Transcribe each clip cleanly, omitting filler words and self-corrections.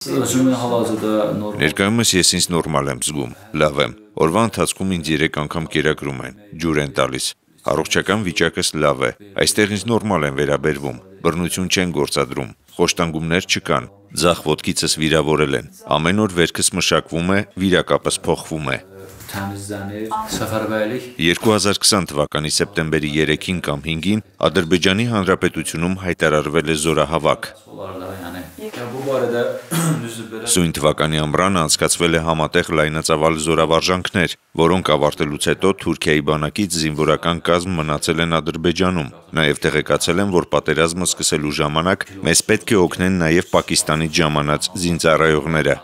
Ներկայումս ես ինձ նորմալ եմ զգում, լավ եմ, օրվա ընթացքում ինձ 3 անգամ կերակրում են, ջուր են տալիս, առողջական վիճակս լավ է, այստեղ ինձ նորմալ են վերաբերվում, բռնություն չեն գործադրում, խոշտանգումներ չկան, ձախ ոտքիցս վիրավորել են, ամեն օր վերքս մշակվում է, վիրակապս փոխվում է։ 2020 թվականի սեպտեմբերի 3-ին կամ 5-ին Ադրբեջանի Հանրապետությունում հայտարարվել է զորահավաք։ Սույն թվականի ամռանը անցկացվել է համատեղ լայնածավալ զորավարժանքներ, որոնք ավարտելուց հետո Թուրքիայի բանակից զինվորական կազմ մնացել են Ադրբեջանում։ Նաև տեղեկացել են, որ պատերազմը սկսելու ժամանակ մեզ պետք է օգնեն նաև Պակիստանից ժամանած զինծառայողները։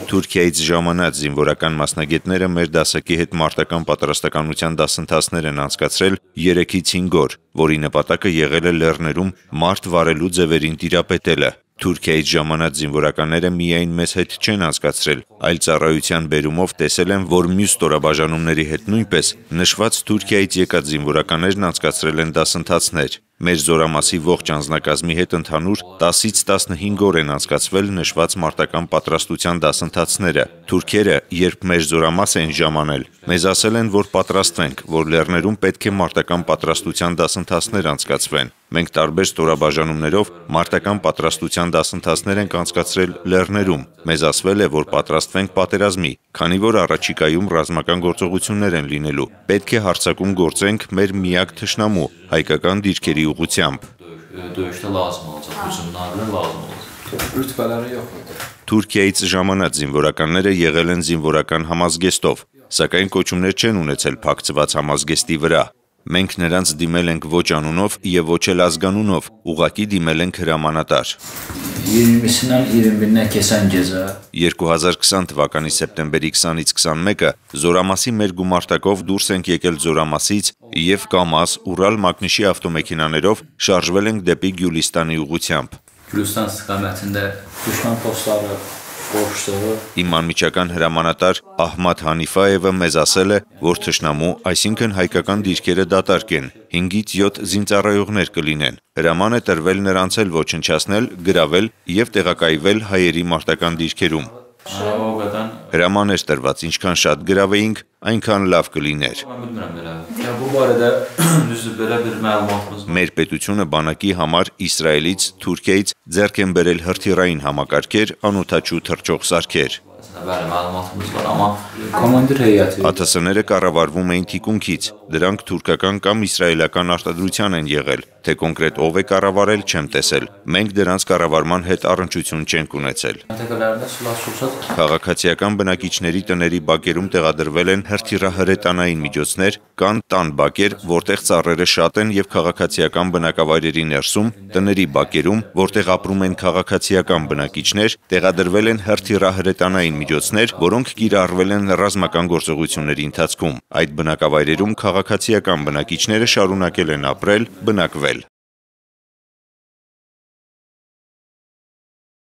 Թուրքիայից ժամանած զինվորական մասնագետները մեր դասակի հետ մարտական պատրաստականության դասընթացներ են անցկացրել 3-ից 5 օր, որի նպատակը եղել է լեռներում մարդ վարելու ձևերին տիրապետելը։ Թուրքիայից ժամանած զինվորականները միայն մեզ հետ չեն անցկացրել, այլ ծառայության բերումով տեսել են, որ մյուս ստորաբաժանումների հետ նույնպես նշված Թուրքիայից եկած զինվորականներն անցկացրել են դասընթացներ։ Մեր զորամասի ողջ անձնակազմի հետ ընդհանուր 10-ից 15 օր են անցկացվել նշված մարտական պատրաստության դասընթացները։ Թուրքերը, երբ մեր զորամաս են ժամանել, մեզ ասել են, որ պատրաստվենք, որ լեռներում պետք է մարտական պատրաստության դասընթացներ անցկացվեն։ Մենք տարբեր ստորաբաժանումներով մարտական պատրաստության դասընթացներ ենք անցկացրել լեռներում։ Մեզ ասվել է, որ պատրաստվենք պատերազմի, քանի որ առաջիկայում ռազմական գործողություններ են լինելու։ Պետք է հարձակում գործենք մեր միակ թշնամու՝ հայկական դիրքերի ուղղությամբ։ Թուրքիայից ժամանած զինվորականները եղել են զինվորական համազգեստով, սակայն կոչումներ չեն ունեցել փակցված համազգեստի վրա։ Մենք նրանց դիմել ենք ոչ անունով և ոչ էլ ազգանունով, ուղղակի դիմել ենք հրամանատար։ 2020 թվականի սեպտեմբերի 20-ից 21-ը զորամասի մեր գումարտակով դուրս ենք եկել զորամասից և կամազ, Ուրալ մագնիշի ավտոմեքենաներով շարժվել ենք դեպի Գյուլիստանի ուղղությամբ։ Իմ անմիջական հրամանատար Ահմադ Հանիֆայևը մեզ ասել է, որ թշնամու, այսինքն հայկական դիրքերը դատարկ են, 5-ից 7 զինծառայողներ կլինեն։ Հրաման է տրվել նրանց էլ ոչնչացնել, գրավել և տեղակայվել հայերի մարտական դիրքերում։ Հրաման էր տրված, ինչքան շատ գրավեինք, այնքան լավ կլիներ։ Մեր պետությունը բանակի համար Իսրայելից, Թուրքիայից ձեռք են բերել հրթիռային համակարգեր, անօդաչու թռչող սարքեր։ ԱԹՍ-ները կառավարվում էին թիկունքից, դրանք թուրքական կամ իսրայելական արտադրության են եղել, թե կոնկրետ ով է կառավարել չեմ տեսել, մենք դրանց կառավարման հետ առնչություն չենք ունեցել։ Քաղաքացիական բնակիչների տների բակերում տեղադրվել են հրթիռահրետանային միջոցներ, կան տան բակեր, որտեղ ծառերը շատ են և քաղաքացիական բնակավայրերի ներսում, տների բակերում, որտեղ ապրում են քաղաքացիական բնակիչներ, տեղադրվել են հրթիռահրետանային միջոցներ, որոնք կիրառվել են ռազմական գործողությունների ընթացքում։ Այդ բնակավայրերում քաղաքացիական բնակիչները շարունակել են ապրել, բնակվել։